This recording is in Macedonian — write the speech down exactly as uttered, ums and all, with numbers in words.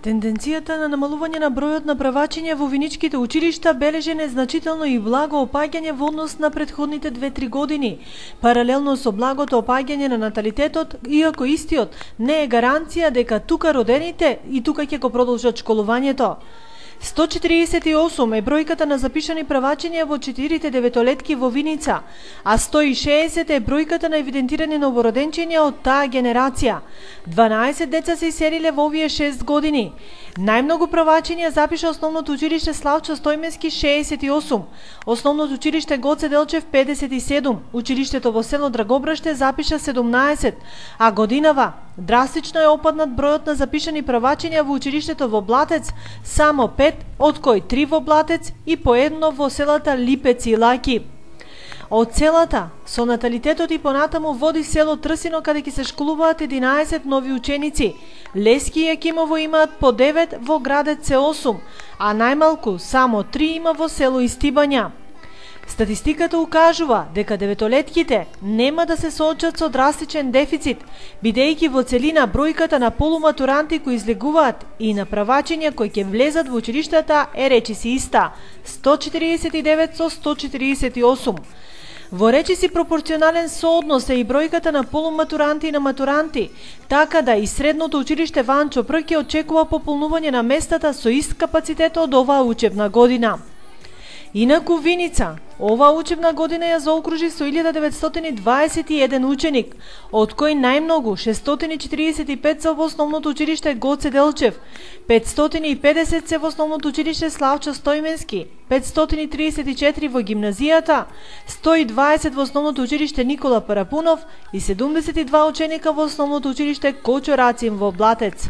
Тенденцијата на намалување на бројот на правачиња во виничките училишта бележи незначително и благо опаѓање во однос на претходните две-три години. Паралелно со благото опаѓање на наталитетот, иако истиот не е гаранција дека тука родените и тука ќе го продолжат школувањето. сто четиридесет и осум е бројката на запишани правачиња во четирите деветолетки во Виница, а сто и шеесет е бројката на евидентирани новороденчиња од таа генерација. дванаесет деца се иселиле во овие шест години. Најмногу правачиња запиша Основното училиште Славчо Стојменски шеесет и осум, Основното училиште Гоце Делчев педесет и седум, училиштето во село Драгобраште запиша седумнаесет, а годинава драстично е опаднат бројот на запишани правачиња во училиштето во Блатец, само пет, од кои три во Блатец и по едно во селата Липец и Лаки. Од селата, со наталитетот и понатаму води село Трсино, каде ќе се школуваат единаесет нови ученици. Лески и Јакимово имаат по девет, во градец се осум, а најмалку само три има во село Истибања. Статистиката укажува дека деветолетките нема да се соочат со драстичен дефицит, бидејќи во целина бројката на полуматуранти кои излегуваат и на правачиња кои ќе влезат во училиштата е речиси иста – сто четиридесет и девет со сто четиридесет и осум. Во речиси пропорционален сооднос е и бројката на полуматуранти и на матуранти, така да и средното училиште Ванчо Прк очекува пополнување на местата со ист капацитет од оваа учебна година. Инаку Виница, оваа учебна година ја заокружи со илјада деветстотини дваесет и еден ученик, од кои најмногу шестстотини четиридесет и пет се во Основното училиште Гоце Делчев, петстотини и педесет се во Основното училиште Славчо Стојменски, петстотини триесет и четири во гимназијата, сто и дваесет во Основното училиште Никола Парапунов и седумдесет и два ученика во Основното училиште Кочо Рацин во Блатец.